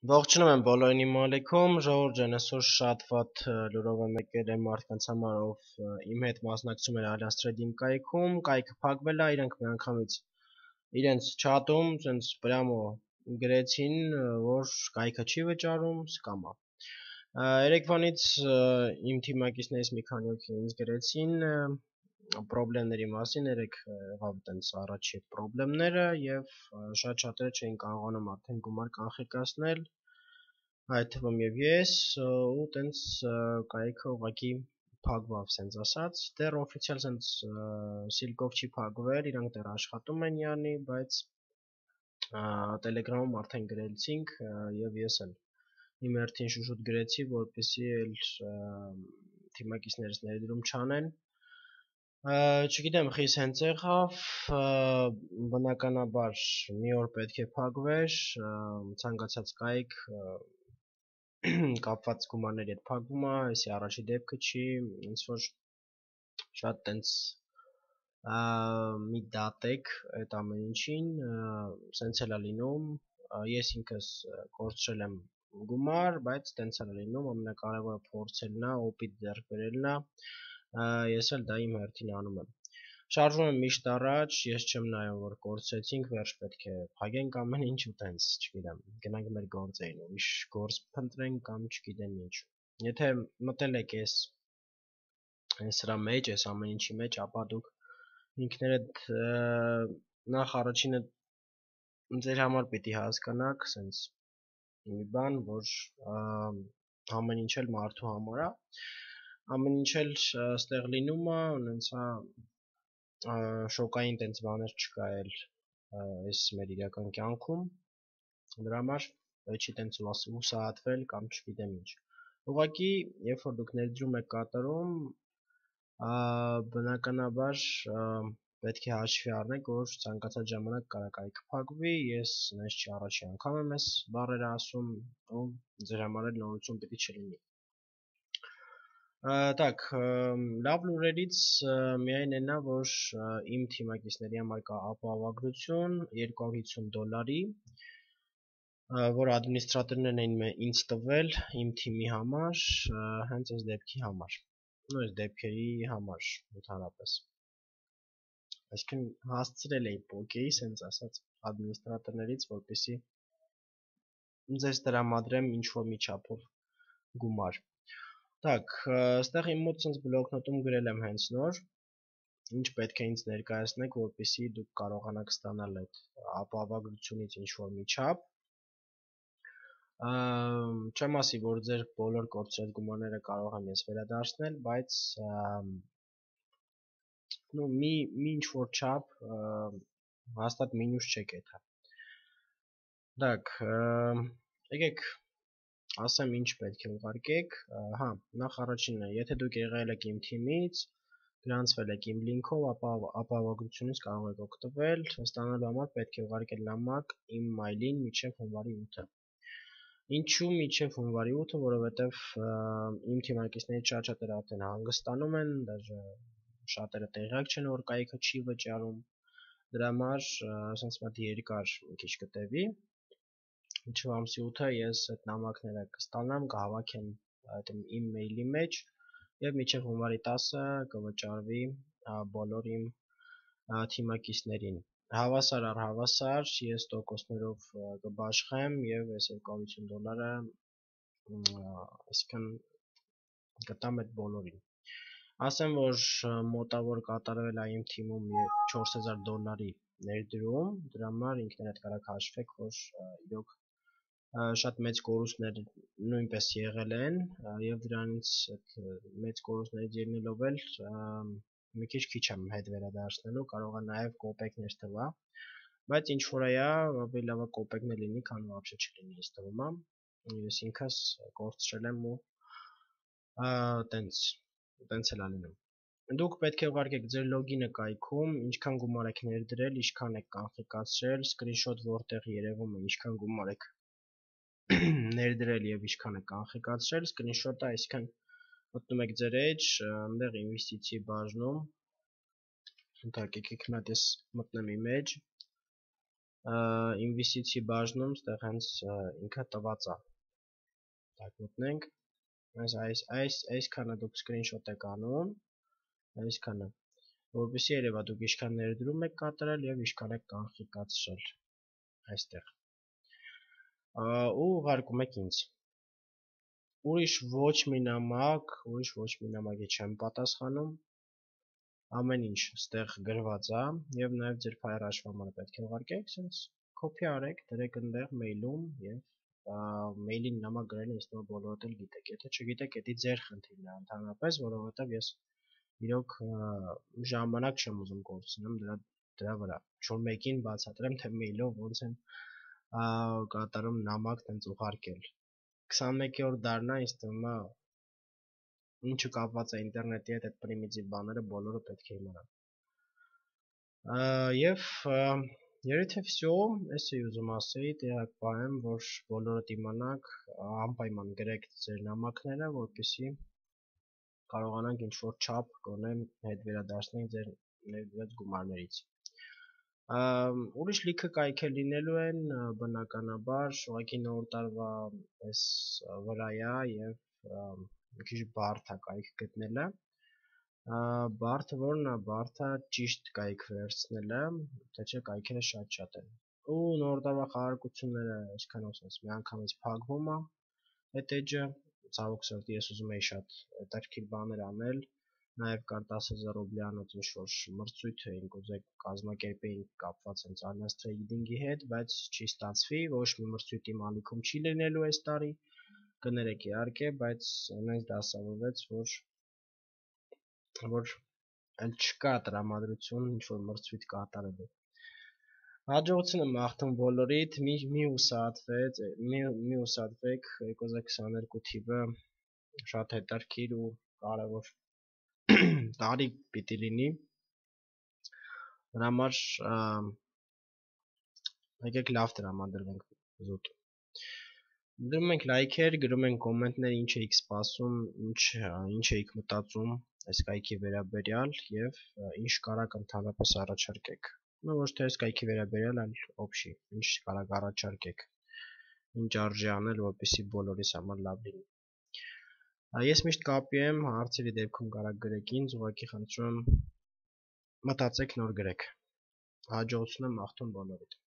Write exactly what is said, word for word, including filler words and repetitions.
Ողջունում եմ բոլորին իմ ալիքում, ժողովուրդ ջան, այսօր շատ վատ լուրով եմ եկել այն մարդկանց համար, ով իմ հետ մասնակցում էր Allianz Trading կայքում, կայքը փակվել է, իրանք միանգամից իրենց չաթում ցենց պրյամո գրեցին, որ կայքը չի վճարում, սկամ է։ Երեկվանից իմ թիմակիցներից մի քանի օքի ինձ գրեցին պրոբլեմների մասին, երեք եղավ տենց առաջի այդ պրոբլեմները եւ շատ շատերը չէին կարողանում արդեն գումար կանխիկացնել, այդ թվում եւ ես, ու տենց կայքը ուղղակի փակվավ, սենց ասած, դեռ օֆիցիալ սենց սիլկով չի փակվել, իրանք դեռ աշխատում են յանի, բայց Telegram-ում արդեն գրեցինք եւ ես էլ իմ հերթին շուշուտ գրեցի, որպեսզի էլ թիմակիցներս ներդրում չանեն։ Չգիտեմ, խիս հենց եղավ, բնականաբար մի օր պետք է փակվեր, ցանկացած կայք կապված գումարների հետ փակվում է, այսի առաջի դեպքը չի, ոնց որ շատ տենց մի դատեք այդ ամեն ինչին, սենց էլ է լինում, ես ինքս կորցրել եմ գումար, բայց տենց էլ է լինում, ամենակարևորը փորձելն է, օպիտ ձեռք բերելն է, ես էլ դա իմ հերթին անում եմ։ Շարժվում եմ միշտ առաջ, ես չեմ նայում, որ կորցրեցինք, վերջ պետք է փակենք ամեն ինչ ու տենց, չգիտեմ, գնանք մեր գործերին, ուրիշ գործ փնտրենք կամ չգիտեմ ինչ։ Եթե մտել եք ես սրա մեջ, այս ամեն ինչի մեջ, ապա դուք ինքներդ նախ առաջինը ձեր համար պիտի հասկանաք, սենց մի բան, որ ամեն ինչ էլ մարդու համար է, ամեն ինչ էլ ստեղ լինում է, ունենցա շոկային տենց բաներ չկա էլ այս մեր իրական կյանքում, դրա համար չի տենց հուսահատվել կամ չգիտեմ ինչ։ Ուղղակի, երբ որ դուք ներդրում եք կատարում, բնականաբար պետք է հաշվի առնեք, որ ցանկացած ժամանակ կարող է կայքը փակվի, ես նենց չի առաջի անգամ եմ այս բառերը ասում, ու ձեր համար էլ նորություն պիտի չլինի։ Так, լավ լուրերից միայն այնա, որ իմ թիմակիցների համար կա ապահովագրություն երկու հարյուր հիսուն դոլարի, որ ադմինիստրատորներն էին ինձ տվել իմ թիմի համար, հենց այս դեպքի համար, ու այս դեպքերի համար ընդհանրապես։ Այսինքն հասցրել էի պոկեի, սենց ասած, ադմինիստրատորներից, որպեսզի ձեզ տրամադրեմ ինչ-որ մի չափով գումար։ Так, այստեղ իմ մոտ ցենց բլոկնոտում գրել եմ հենց նոր, ինչ պետք է ինձ ներկայացնեք, որպեսզի դուք կարողանաք ստանալ այդ ապահովագրությունից ինչ-որ մի չափ։ Չեմ ասի, որ ձեր բոլոր կորցրած գումարները կարող եմ ես վերադարձնել, բայց նու մի մի ինչ-որ չափ հաստատ մինուս չեք էթա։ Так, եկեք ասեմ ինչ պետք է ուղարկեք, հա, նախ առաջինը, եթե դուք եղել եք իմ թիմից, գրանցվել եք իմ լինքով, ապա ապահովագրությունից կարող եք օգտվել, ստանալու համար պետք է ուղարկել նամակ իմ մայլին մինչև հունվարի ութը։ Ինչու մինչև հունվարի ութը, որովհետև իմ թիմակիցներից շատ շատերը արդեն հանգստանում են, դաժե շատերը տեղյակ չեն, որ կայքը չի վճարում, դրա համար ասենց մոտ երկար մի քիչ կտևի։ Մինչև ամսի ութը ես այդ նամակները կստանամ, կհավաքեմ այդ իմ մեյլի մեջ եւ մինչև հունվարի տասը կվճարվի բոլոր իմ թիմակիցներին։ Հավասար առ հավասար ես տոկոսներով կբաշխեմ եւ այս երկու հարյուր հիսուն դոլարը այսքան կտամ այդ բոլորին։ Ասեմ, որ մոտավոր կատարվել է իմ թիմում չորս հազար դոլարի ներդրում, դրա համար ինքներդ կարաք հաշվեք, որ իրոք շատ մեծ կորուստներ նույնպես եղել են եւ դրանից այդ մեծ կորուստներից ելնելով էլ մի քիչ քիչ եմ հետ վերադարձնելու, կարող է նաեւ կոպեկներ տվա, բայց ինչ որ այա, ավելի լավ է կոպեկներ լինի, քան вообще չլինի, ինձ թվում է։ Ես ինքս կորցրել եմ ու տենց տենց էլ ալինում։ Դուք պետք է ուղարկեք ձեր լոգինը կայքում, ինչքան գումար եք ներդրել, ինչքան եք կանխիկացրել, սկրինշոտ որտեղ երևում է, ինչքան գումար եք ներդրել եւ ինչքան եք կանխիկացրել, սկրինշոտը, այսինքն մտնում եք ձեր edge, այնտեղ ինվեստիցիի բաժնում, ընդհանրապես եկեք մի հատ ես մտնեմ իմ edge, ինվեստիցիի բաժնում ստեղ հենց ինքը տված է։ Так մտնենք, այս այս այս այսքանը դուք screenshot եք անում, այսքանը, որպեսզի երևա դուք ինչքան ներդրում եք կատարել եւ ինչքան եք կանխիկացրել այստեղ։ Ու ուղարկում եք ինձ։ Ուրիշ ոչ մի նամակ, ուրիշ ոչ մի նամակի չեմ պատասխանում։ Ամեն ինչ ստեղ գրված է եւ նաեւ ձեր ֆայլ հաշվամարը պետք է ուղարկեք, sense copy արեք, դրեք այնտեղ մեյլում եւ մեյլին նամակ գրելը ինձ թվում է բոլորդ էլ գիտեք։ Եթե չգիտեք, դա ձեր խնդիրն է ընդհանրապես, որովհետեւ ես իրոք ժամանակ չեմ ուզում կորցնեմ դրա դրա վրա։ Ինչ-որ մեկին բացատրեմ, թե մեյլով ոնց են կատարում նամակ տենց ուղարկել։ քսանմեկերորդ դարն է, ինձ թվում է ինչը կապված է ինտերնետի հետ, այդ պրիմիտիվ բաները բոլորը պետք է իմանան։ Եվ երեւի թե всё, ես էի ուզում ասեի, տեղակ պահեմ, որ բոլորդ իմանաք, անպայման գրեք ձեր նամակները, որպեսզի կարողանանք ինչ-որ չափ գոնե հետ վերադարձնել ձեր ներդրած գումարներից։ Ուրիշ լիքը կայքեր լինելու են, բնականաբար, ուղղակի նոր տարվա այս վրա է եւ մի քիչ բարդ է կայք գտնելը, բարդը որն է, բարդը ճիշտ կայք վերցնելը, թե չէ կայքերը շատ-շատ են։ Ու նոր տարվա խաղարկությունները, այսքան ասած, միանգամից փակվում է այդ էջը, ցավոք սրտի ես ուզում էի շատ հետաքրքիր բաներ անել, նաև կար տասը հազար ռուբլյանոց ինչ-որ մրցույթ էինք ուզել կազմակերպեինք կապված հենց Alliance Trading-ի հետ, բայց չի ստացվի, ոչ մի մրցույթ իմ ալիքում չի լինելու այս տարի, կներեք իհարկե, բայց այնպես դասավորվեց, որ որ այլ չկա տրամադրություն ինչ-որ մրցույթ կատարելու։ Հաջողություն եմ մաղթում բոլորիդ, մի մի ուսացվեց, մի մի ուսացվեք երկու հազար քսաներկու թիվը շատ հետաքրքիր ու կարևոր տարի պիտի լինի։ Դրա համար եկեք լավ տրամադրվենք զուտ։ Դրում ենք լայքեր, գրում ենք կոմենտներ, ինչ էիք սպասում, ինչ ինչ էիք մտածում այս կայքի վերաբերյալ եւ ինչ կարաք ընդհանրապես առաջարկեք։ Ну ոչ թե այս կայքի վերաբերյալ, այլ օբշի, ինչ կարաք առաջարկեք։ Ինչ արժի անել, որպեսզի բոլորիս համար լավ լինի։ Ես միշտ կապի եմ, հարցերի դեպքում կարաք գրեք ինձ, ուղղակի խնդրում եմ մտածեք նոր գրեք։ Հաջողություն եմ մաղթում բոլորիդ։